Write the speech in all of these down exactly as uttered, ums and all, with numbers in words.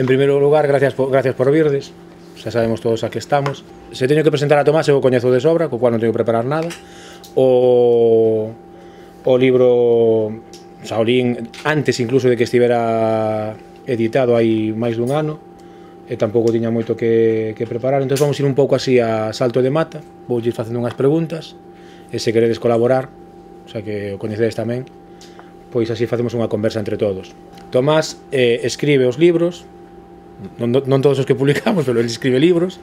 En primeiro lugar, gracias por, gracias por virdes, xa sabemos todos a que estamos. Se teño que presentar a Tomás, eu o coñezo de sobra, co cual non teño que preparar nada. O, o libro xa o lín antes incluso de que estivera editado hai máis dun ano, e tampouco tiña moito que, que preparar, entón vamos ir un pouco así a salto de mata, vou ir facendo unhas preguntas, e se queredes colaborar, o sea que o coñecedes tamén, pois así facemos unha conversa entre todos. Tomás eh, escribe os libros, non, non todos os que publicamos, pero ele escribe libros,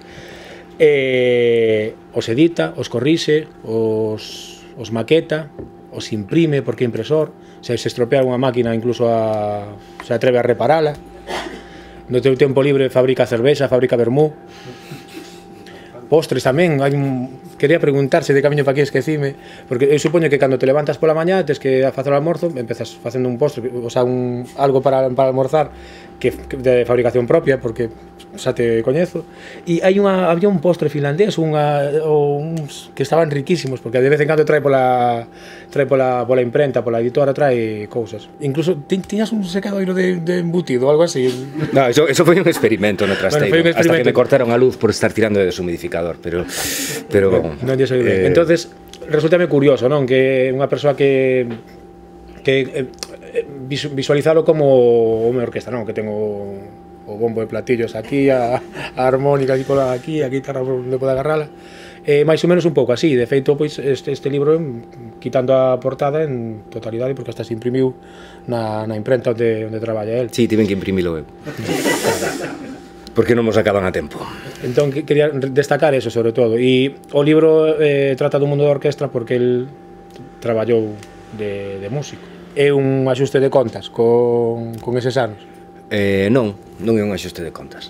eh, os edita, os corrixe, os, os maqueta, os imprime porque é impresor, se se estropea unha máquina incluso a, se atreve a reparala. No teu tempo libre fabrica cervexa, fabrica vermú. Postres tamén, hai un... quería preguntarse de camiño para aquí, esquecime, porque eu supoño que cando te levantas pola mañá, tes que facer o almorzo, empezas facendo un postre, o sea, un, algo para, para almorzar, que, que de fabricación propia, porque xa te coñezo, e hai unha, había un postre finlandés, unha, ou uns que estaban riquísimos, porque de vez en cando trae pola, trae pola, pola imprenta, pola editora, trae cousas. Incluso, ti, tiñas un secadoiro de, de embutido, ou algo así. No, eso, eso foi un experimento no trasteiro, bueno, un experimento. Hasta que me cortaron a luz por estar tirando de deshumidificador, pero... pero bueno, non lle sei ben. Eh... Entonces, resultame curioso, non? Que unha persoa que... que eh, visualizalo como unha orquesta, non? Que tengo o bombo de platillos aquí, a, a armónica aquí, pola, aquí, a guitarra onde pode agarrala. Eh, máis ou menos un pouco así. De feito, pois, este, este libro, quitando a portada en totalidade, porque hasta se imprimiu na, na imprenta onde, onde traballa el. Sí, tiven que imprimilo eu. Porque non nos acaban a tempo. Entón, quería destacar eso, sobre todo. E o libro eh, trata do mundo da orquestra porque el traballou de, de músico. É un axuste de contas con, con eses anos. Eh, non, non é un axuste de contas.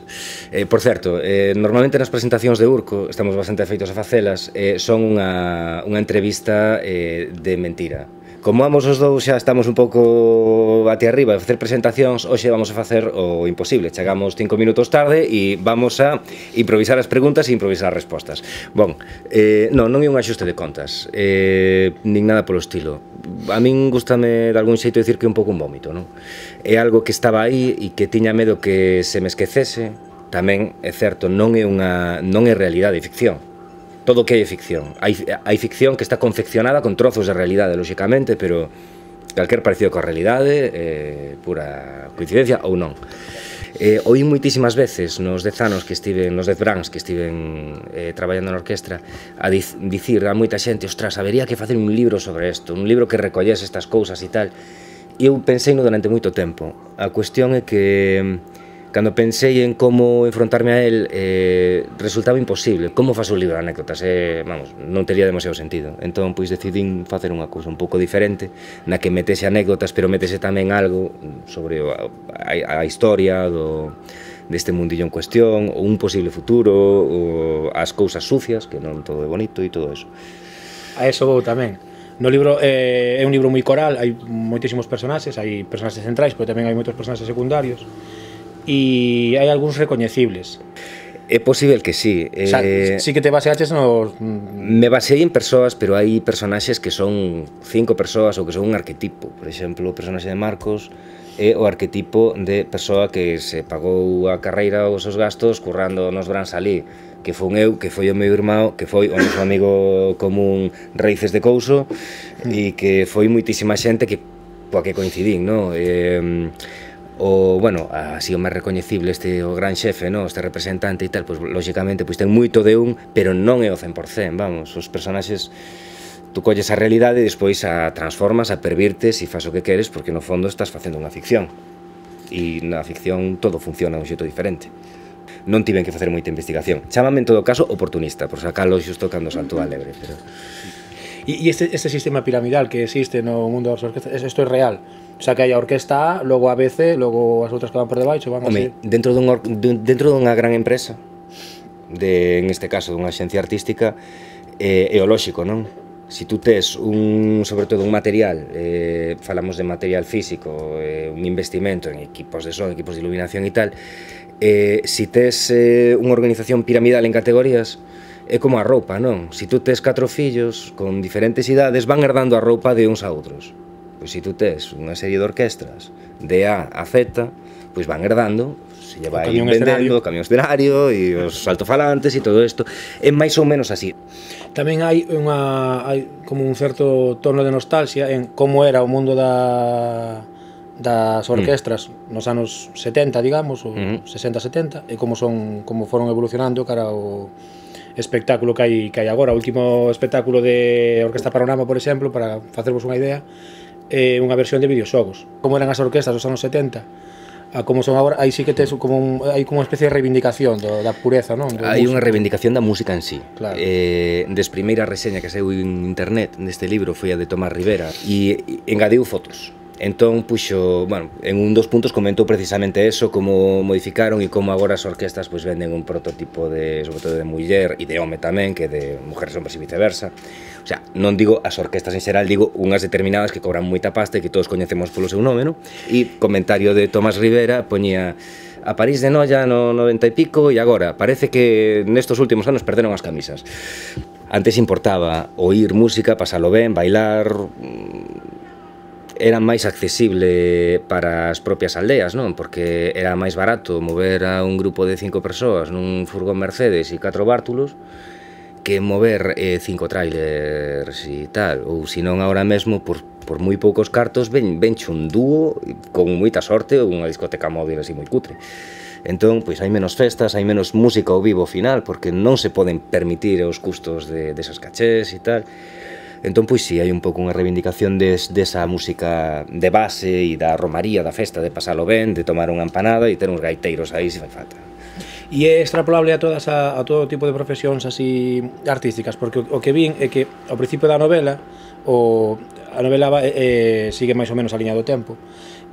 Eh, por certo, eh, normalmente nas presentacións de Urco, estamos bastante afeitos a facelas, eh, son unha, unha entrevista eh, de mentira. Como ambos os dous xa estamos un pouco até arriba de facer presentacións, hoxe vamos a facer o imposible. Chegamos cinco minutos tarde e vamos a improvisar as preguntas e improvisar as respostas. Bon, eh, non, non é un axuste de contas, eh, nin nada polo estilo. A min gustame de algún xeito dicir que é un pouco un vómito, non? É algo que estaba aí e que tiña medo que se me esquecese. Tamén, é certo, non é unha non é realidade, é ficción. Todo o que hai ficción. Hai, hai ficción que está confeccionada con trozos de realidade, lóxicamente, pero calquer parecido coa realidade é pura coincidencia ou non. Eh, oí moitísimas veces nos dez anos que estiven, nos dez brands que estiven eh, traballando na orquestra, a dic dicir a moita xente, ostras, habería que facer un libro sobre isto, un libro que recollese estas cousas e tal. E eu pensei no durante moito tempo. A cuestión é que cando pensei en como enfrontarme a él, eh, resultaba imposible. Como faz un libro de anécdotas? Eh, vamos, non tería demasiado sentido. Entón, pois, decidín facer unha cousa un pouco diferente, na que metese anécdotas, pero metese tamén algo sobre a, a, a historia do, deste mundillo en cuestión, ou un posible futuro, ou as cousas sucias, que non todo é bonito e todo eso. A eso vou tamén. No libro eh, é un libro moi coral, hai moitísimos personaxes, hai personaxes centrais, pero tamén hai moitos personaxes secundarios. E hai algúns recoñecibles. É posible que sí. O sea, eh, sí que te baseaches nos... Me baseei en persoas, pero hai personaxes que son cinco persoas ou que son un arquetipo. Por exemplo, o personaxe de Marcos é o arquetipo de persoa que se pagou a carreira os seus gastos currando nos brands ali, que foi eu, que foi o meu irmão, que foi o noso amigo común Raíces de Couso, mm. e que foi moitísima xente que coa que coincidín, non? Eh, o, bueno, así o máis recoñecible, este o gran xefe, no? Este representante e tal, pois, lóxicamente, pois ten moito de un, pero non é o cen por cen, vamos, os personaxes, tú colles a realidade e despois a transformas, a pervirtes e faz o que queres, porque no fondo estás facendo unha ficción, e na ficción todo funciona de un xeito diferente. Non tiven que facer moita investigación, chámame en todo caso oportunista, por sacalo xusto cando saltou a lebre, pero... E este, este sistema piramidal que existe no mundo das orquestas, isto é real? O sea, que hai a orquesta A, logo a B C, logo as outras que van por debaixo, van así. Home, dentro dun dentro dunha gran empresa, de, en este caso, dunha axencia artística, eh, é o lóxico, non? Si tú tes un, sobre todo un material, eh, falamos de material físico, eh, un investimento en equipos de son, equipos de iluminación e tal, eh, si tes eh, unha organización piramidal en categorías, é como a roupa, non? Si tú tes catro fillos con diferentes idades, van herdando a roupa de uns a outros. pois se tú tes unha serie de orquestras de A a Z, pois van herdando, se lle vai vendendo o camión escenario e os altofalantes e todo isto, é máis ou menos así. Tamén hai unha hai como un certo tono de nostalgia en como era o mundo da das orquestras mm. nos anos setenta, digamos, ou mm. sesenta setenta, e como son como foron evolucionando cara ao espectáculo que hai que hai agora. O último espectáculo de Orquesta Panorama, por exemplo, para facervos unha idea, é unha versión de videoxogos. Como eran as orquestas dos anos setenta, a como son agora, aí sí que tes como un, hai como unha especie de reivindicación do, da pureza, non? Do hai unha reivindicación da música en sí. Claro. Eh, des primeira reseña que saiu en internet neste libro foi a de Tomás Rivera e engadiu fotos. Entón, puxo, bueno, en un dos puntos comentou precisamente eso, como modificaron e como agora as orquestas pois venden un prototipo de, sobre todo de muller e de home tamén, que de mujeres hombres e viceversa. O sea, non digo as orquestas en xeral, digo unhas determinadas que cobran moita pasta e que todos coñecemos polo seu nome, non? E comentario de Tomás Rivera poñía: a París de Noia no noventa e pico e agora parece que nestos últimos anos perderon as camisas. Antes importaba oír música, pasalo ben, bailar, era máis accesible para as propias aldeas, non? Porque era máis barato mover a un grupo de cinco persoas nun furgón Mercedes e catro bártulos que mover eh, cinco trailers e tal, ou senón agora mesmo por, por moi poucos cartos ven, venche un dúo con moita sorte ou unha discoteca móvil así moi cutre. Entón, pois hai menos festas, hai menos música ao vivo ao final, porque non se poden permitir os custos de, desas cachés e tal. Entón, pois si, hai un pouco unha reivindicación des, desa música de base e da romaría da festa, de pasalo ben, de tomar unha empanada e ter uns gaiteiros aí se fai falta. E é extrapolable a todas a, a todo tipo de profesións así artísticas, porque o, o que vin é que ao principio da novela o, a novela va, eh, sigue máis ou menos a liña do tempo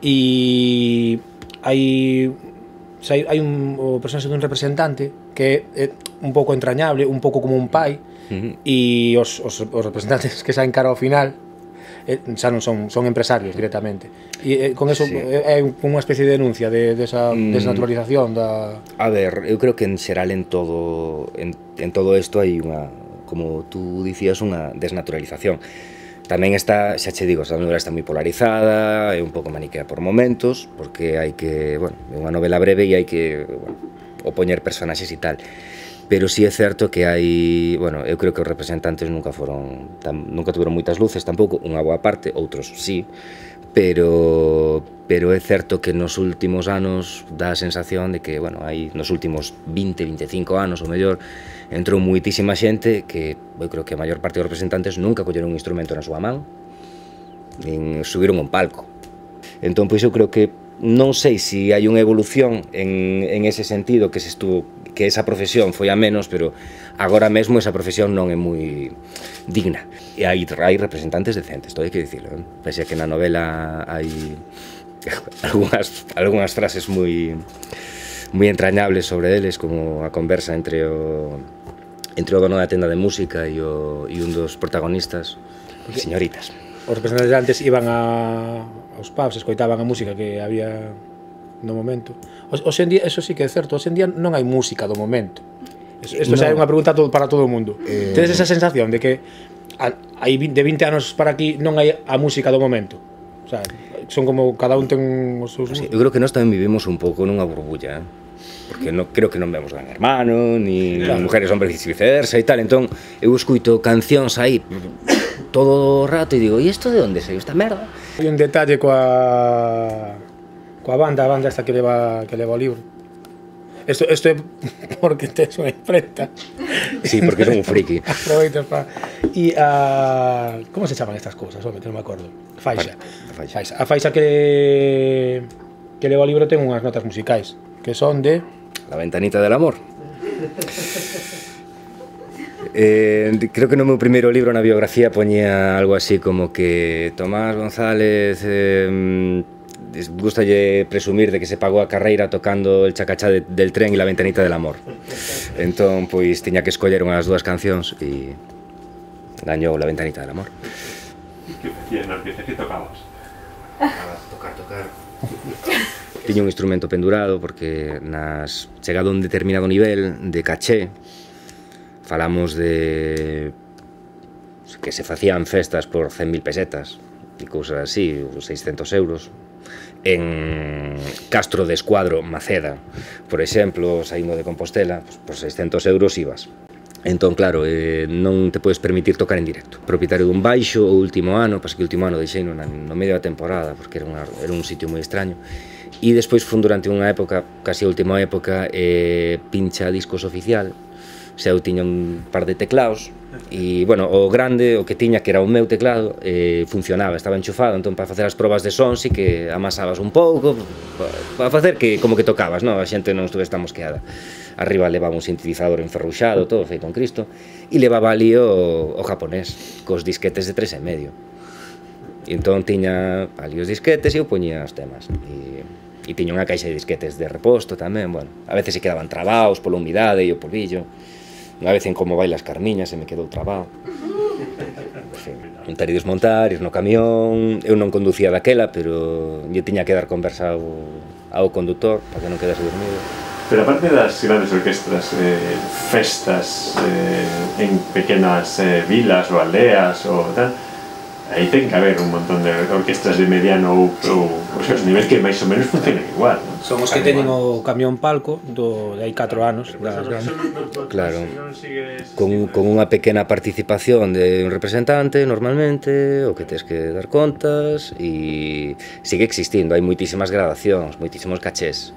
e hai hai, hai un, o personaxe dun representante que é un pouco entrañable, un pouco como un pai. Uh-huh. E os, os, os representantes que saen cara ao final eh, xa non son, son empresarios directamente e eh, con eso sí. É unha especie de denuncia de, de esa mm. desnaturalización da... A ver, eu creo que en xeral en todo en, en todo isto hai unha, como tú dicías, unha desnaturalización. Tamén está, xa che digo, esta novela está moi polarizada, é un pouco maniquea por momentos, porque hai que, bueno, é unha novela breve e hai que, bueno, opoñer personaxes e tal. Pero sí é certo que hai, bueno, eu creo que os representantes nunca foron, tam, nunca tuveron moitas luces tampouco, unha boa parte, outros sí, pero pero é certo que nos últimos anos dá a sensación de que, bueno, hai nos últimos vinte, veinticinco anos ou mellor, entrou moitísima xente que, eu creo que a maior parte dos representantes nunca colleron un instrumento na súa man, nin subiron un palco. Entón, pois eu creo que non sei se hai unha evolución en, en ese sentido, que se estuvo, que esa profesión foi a menos, pero agora mesmo esa profesión non é moi digna. E hai, hai representantes decentes, todo hai que dicirlo, eh? Pese a que na novela hai algunhas, algunhas frases moi moi entrañables sobre eles, como a conversa entre o entre o dono da tenda de música e, o, e un dos protagonistas, señoritas. Os representantes antes iban a, aos pubs, escoitaban a música que había no momento. Hoxe en día, eso sí que é certo, hoxe en día non hai música do momento. Isto xa é unha pregunta para todo o mundo. Eh... Tedes esa sensación de que hai de vinte anos para aquí non hai a música do momento? O sea, son como cada un ten os seus... Sí, eu creo que nós tamén vivimos un pouco nunha burbulla, eh? Porque no, creo que non vemos Gran Hermano, ni claro. Mujeres, hombres e viceversa e tal, entón eu escuito cancións aí todo o rato e digo, e isto de onde saiu esta merda? Hai un detalle coa coa banda, a banda esta que leva que leva o libro. Isto isto é porque tes unha imprenta. Sí, porque son un friki. Aproveitas para e a como se chaman estas cousas, home, que non me acordo. Faixa. A faixa. faixa. A faixa que que leva o libro ten unhas notas musicais que son de La ventanita del amor. Eh, creo que no meu primeiro libro na biografía poñía algo así como que Tomás González eh, gustalle presumir de que se pagou a carreira tocando el chacachá de, del tren e La ventanita del amor. Entón, pois, tiña que escoller unhas dúas cancións e gañou La ventanita del amor. Que facías nas piezas que tocabas? Tocar, tocar. Tiña un instrumento pendurado porque nas chegado a un determinado nivel de caché, falamos de que se facían festas por cen mil pesetas e cousas así, seiscentos euros. En Castro de Escuadro, Maceda, por exemplo, saindo de Compostela, pues, por seiscentos euros ibas. Entón, claro, eh, non te podes permitir tocar en directo. Propietario dun baixo, o último ano, pas que o último ano deixei no, no medio da temporada, porque era, unha, era un sitio moi extraño. E despois fun durante unha época, casi a última época, eh, pincha discos oficial. O sea, eu tiña un par de teclados, e, bueno, o grande, o que tiña, que era o meu teclado, eh, funcionaba, estaba enchufado, entón, para facer as probas de son, si que amasabas un pouco, para facer que, como que tocabas, non? A xente non estuvese tan mosqueada. Arriba levaba un sintetizador enferruxado, todo feito en Cristo, e levaba ali o, o japonés, cos disquetes de tres e medio. E entón tiña ali os disquetes e eu poñía os temas. E, e tiña unha caixa de disquetes de reposto tamén, bueno, a veces se quedaban trabados pola humidade e o polvillo. Unha vez en Como Bailas Carmiña se me quedou trabado. En fin, montar e desmontar, ir no camión. Eu non conducía daquela, pero lle tiña que dar conversa ao, ao condutor para que non quedase dormido. Pero aparte das grandes orquestras, eh, festas eh, en pequenas eh, vilas ou aldeas ou tal, aí ten que haber un montón de orquestras de mediano ou, ou os niveis que máis ou menos funcionan igual, non? Son os que teñen o camión palco do, de hai catro anos. Das grandes. Claro, con, con unha pequena participación de un representante normalmente, o que tens que dar contas, e sigue existindo, hai moitísimas gradacións, moitísimos cachés.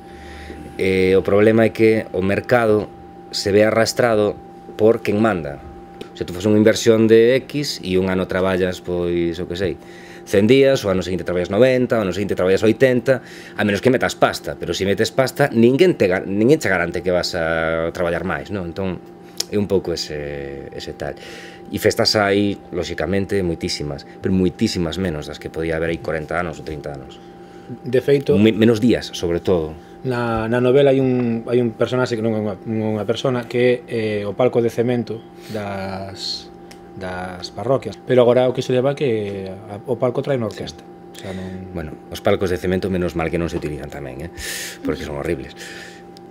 E o problema é que o mercado se ve arrastrado por quen manda. Se tú fas unha inversión de X e un ano traballas, pois, o que sei, cen días, o ano seguinte traballas noventa, o ano seguinte traballas oitenta, a menos que metas pasta, pero se metes pasta, ninguén, te, ninguén te garante que vas a traballar máis, non? Entón, é un pouco ese, ese tal. E festas hai, lóxicamente, moitísimas, pero moitísimas menos das que podía haber aí corenta anos ou trinta anos. De feito, menos días, sobre todo. Na, na novela hai un, hai un personaxe que non é unha, unha persona que é eh, o palco de cemento das, das parroquias, pero agora o que se leva que a, o palco trae unha orquesta. O sea, non... Bueno, os palcos de cemento menos mal que non se utilizan tamén, eh? Porque son horribles.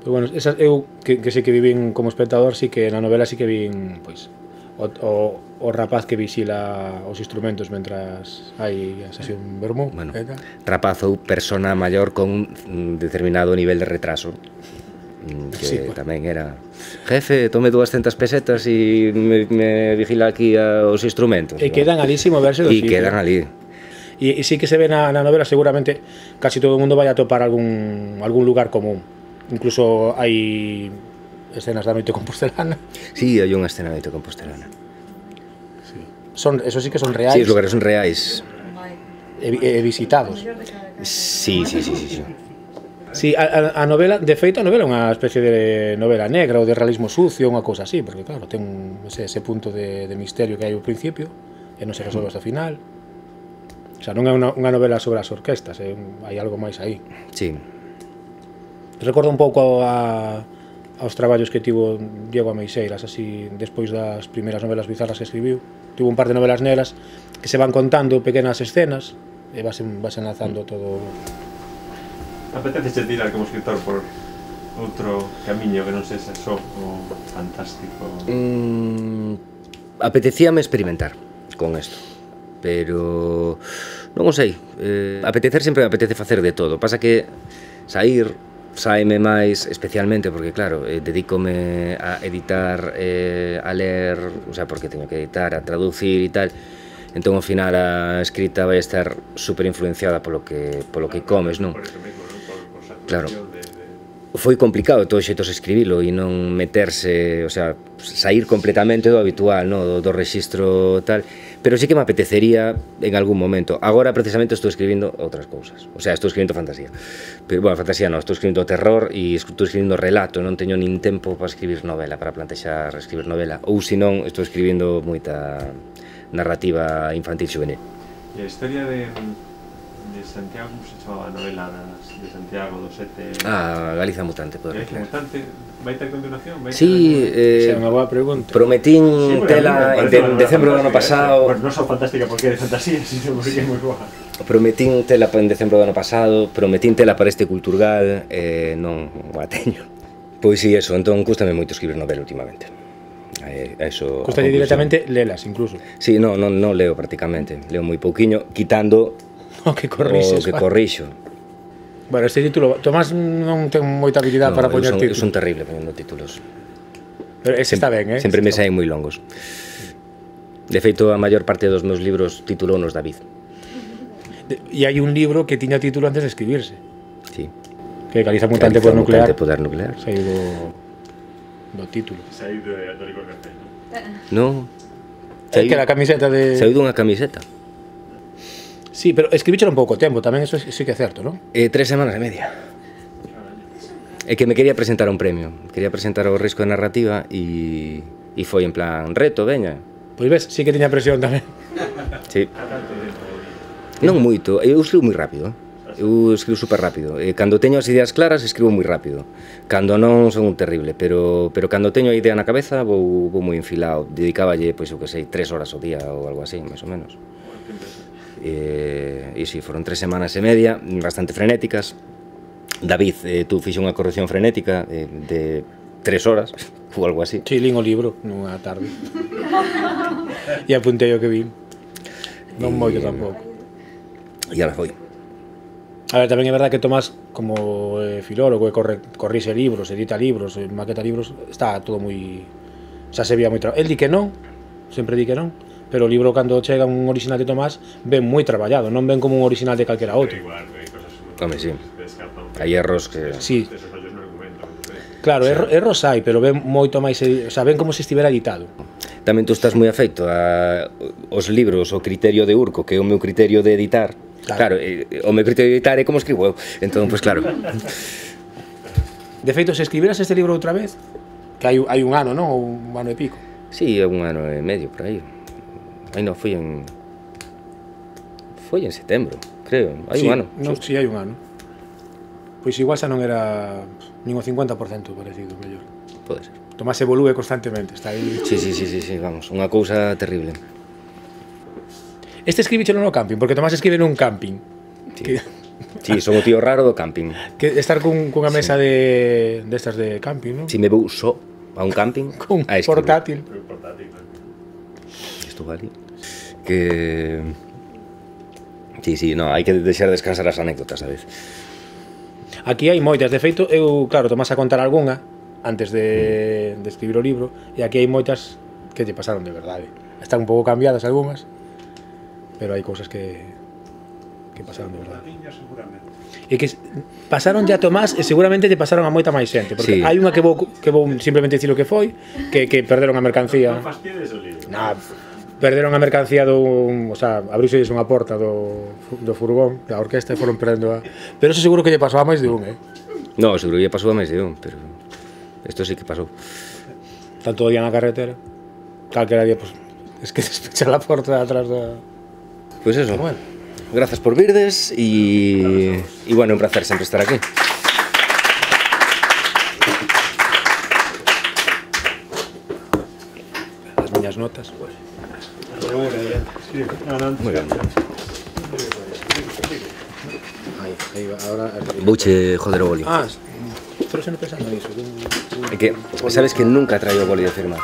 Pero bueno, esas, eu que, que sei que vivín como espectador, sí que na novela sí que vin, pois, o, o, o rapaz que visila os instrumentos mentras hai a sesión vermú. Bueno, rapaz ou persona maior con un determinado nivel de retraso, que sí, pues, tamén era jefe, tome doscientas pesetas e me, me vigila aquí a, os instrumentos. E quedan alí sin moverse do sitio. E quedan ali. E, e sí que se ve na, na novela, seguramente casi todo o mundo vai a topar algún, algún lugar común. Incluso hai escenas da noite compostelana. Sí, hai unha escena da noite compostelana. Sí. Son, eso sí que son reais. Sí, os lugares son reais. E, e visitados. Sí, sí, sí, sí, sí. Sí, a, a novela, de feito, a novela é unha especie de novela negra ou de realismo sucio, unha cousa así, porque claro, ten ese, ese punto de, de misterio que hai ao principio e non se resolve hasta o final. O sea, non é unha, unha novela sobre as orquestas, é, hai algo máis aí. Sí. Recordo un pouco a aos traballos que tivo Diego Ameixeiras, así, despois das primeiras novelas bizarras que escribiu. Tivo un par de novelas negras que se van contando pequenas escenas e vas, vas enlazando todo. Apetece tirar como escritor por outro camiño que non sexa só o fantástico? Mm, apetecíame experimentar con isto, pero non o sei. Eh, apetecer sempre me apetece facer de todo. Pasa que sair saime máis, especialmente porque, claro, eh, dedícome a editar, eh, a ler, o sea, porque teño que editar, a traducir e tal, entón ao final a escrita vai estar super influenciada polo que, polo que comes, non? Claro, foi complicado de todos os xeitos escribilo e non meterse, o sea, sair completamente do habitual, no? do, do rexistro tal, pero sí que me apetecería en algún momento. Agora precisamente estou escribindo outras cousas, o sea, estou escribindo fantasía, pero, bueno, fantasía non, estou escribindo terror e estou escribindo relato, non teño nin tempo para escribir novela, para plantexar escribir novela, ou senón estou escribindo moita narrativa infantil juvenil. E a historia de, de Santiago, como se chamaba a novela de Santiago do Sete? Ah, Galiza Mutante, poder Galiza Mutante, vai ter continuación? Vai ter sí, eh, é unha boa pregunta. Prometín sí, tela en de, decembro do ano pasado. Bueno, non só fantástica porque é de fantasía, sino porque é moi boa. Prometín tela en decembro do ano pasado, prometín tela para este Culturgal, eh, non a teño. Pois si, eso, entón cústame moito escribir novela últimamente. A Eh, eso, Custalle directamente lelas, incluso. Sí, no, non, non leo prácticamente, leo moi pouquiño, quitando O que corrixes. o que vale. corrixo. Bueno, este título, Tomás non ten moita habilidade No, para eu poñer son, eu títulos. son terrible poñendo títulos. Pero ese está ben, eh? Sempre me Está saen moi longos. De feito, a maior parte dos meus libros titulounos David. De- E hai un libro que tiña título antes de escribirse, Sí. que Caliza Mutante Caliza por Nuclear. Mutante poder nuclear. Saiu do, do título. Saí de, do licor café, non? Non. É que la camiseta de... Saiu dunha camiseta. Sí, pero escribíchelo un pouco tempo, tamén eso sí que é certo, non? Eh, tres semanas e media. É que me quería presentar a un premio. Quería presentar o risco de narrativa e, e foi en plan, reto, veña. Pois ves, sí que tiña presión tamén. Sí. Non moito, eu escribo moi rápido. Eu escribo super rápido. E cando teño as ideas claras, escribo moi rápido. Cando non, son un terrible, pero, pero cando teño a idea na cabeza, vou, vou moi enfilado. Dedicáballe, pois, eu que sei, tres horas ao día ou algo así, máis ou menos. E, e si, foron tres semanas e media, bastante frenéticas. David, eh, tú fixe unha corrección frenética eh, de tres horas, ou algo así. Sí, lín o libro nunha tarde. E apuntei o que vi. Non moito tampouco. E ala foi. A ver, tamén é verdad que Tomás, como eh, filólogo, e corre, corrixe libros, edita libros, e maqueta libros, está todo moi... xa se vía moi traballo. El di que non, sempre di que non, pero o libro, cando chega un original de Tomás, ven moi traballado, non ven como un original de calquera outro. Igual, hai cosas moi... Home, sí. Descartan. Hai erros que... Sí, Esos fallos no argumento. claro, erro, erros hai, pero ven moito máis, edi- o sea, ven como se estivera editado. Tamén tú estás moi afeito a os libros, o criterio de Urco, que é o meu criterio de editar. Claro. Claro, eh, o meu criterio de editar é como escribo eu. Entón, pois pues, claro. De feito, se escribiras este libro outra vez, que hai, hai un ano, non? Ou un ano e pico. Sí, é un ano e medio por aí. Aí non, foi en... Foi en setembro, creo. Hai Sí, un ano. Non, xusto. si, hai un ano. Pois igual xa non era nin o cincuenta por cento parecido, mellor. Pode ser. Tomás evolúe constantemente, está aí. Sí, sí, sí, sí, sí, vamos, unha cousa terrible. Este escribichelo no camping, porque Tomás escribe nun camping. Sí. Que, Sí, son o tío raro do camping. que estar cun, cunha mesa de destas de camping, non? Si me vou só a un camping Cun a escribir. portátil. Foi portátil, non? Estou ali. Que... Sí, sí, no, hai que deixar descansar as anécdotas a vez. Aquí hai moitas, de feito, eu, claro, Tomás a contar algunha antes de, de escribir o libro, e aquí hai moitas que lle pasaron de verdade. Están un pouco cambiadas algunhas, pero hai cousas que que pasaron de verdade. E que pasaron ya a Tomás e seguramente lle pasaron a moita máis xente, porque Sí. hai unha que vou, que vou simplemente dicir o que foi, que, que perderon a mercancía. Non fastidies o libro. Nah, perderon a mercancía dun, o sea, abriuse unha porta do, do furgón da orquesta e foron perdendo a... Pero eso seguro que lle pasou a máis de un, eh? No, seguro que pasou a máis de un, pero... Isto sí que pasou. Tanto o día na carretera, calquera día, pues, es que despecha la porta de atrás da... Pois pues eso. Bueno. Grazas por virdes e... E bueno, un placer sempre estar aquí. As miñas notas, pues. Moi ben. Aí, aí va, ahora... Vouche joder o boli. Ah, pero se non pensando nisso. É que, sabes que nunca traio o boli de firmar.